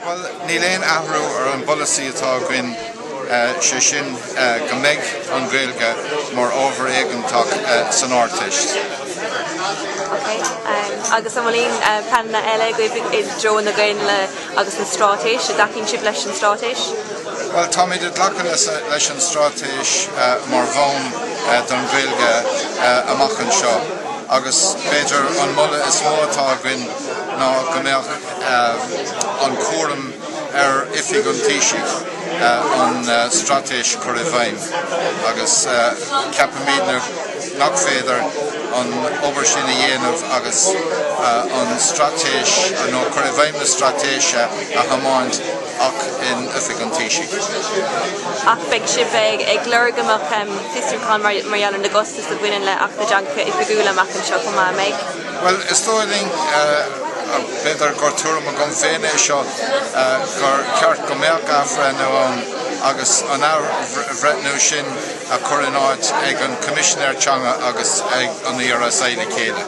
Bhuel, níl aon athrú ar an bpolasaí atá againn, sé sin go mbeidh an Ghaeilge mar ábhar éigeantach san Ardteist. Ok. Agus an bhfuil aon pleananna eile agaibh i dtreo na Gaeilge agus an straitéis? An dtacaíonn sibh leis an straitéis? Bhuel, táimid ag glacadh leis an straitéis mar bhonn don Ghaeilge amach anseo agus b'fhéidir an moladh is mó atá againn ná go mbeadh an cúram ar Oifig an Taoisigh an straitéis a chur i bhfeidhm agus ceapaimidne nach féidir an obair sin a dhéanamh agus an straitéis nó cur i bhfeidhm na straitéise a thiomáint ach in Oifig an Taoisigh. Ach beidh sibh ag lorg go mbeadh fiosrúchán mar gheall ar na gcostas a bhaineann le Acht na dTeangacha Oifigiúla amach anseo chomh maith, an mbeidh? Bhuel, is dóigh linn, b'fhéidir gur tuairim agam féin é seo, gur ceart go mbeadh athbhreithniú ann agus an athbhreithniú sin a chur in áit ag an Choimisinéir Teanga agus ag an ERSI le chéile.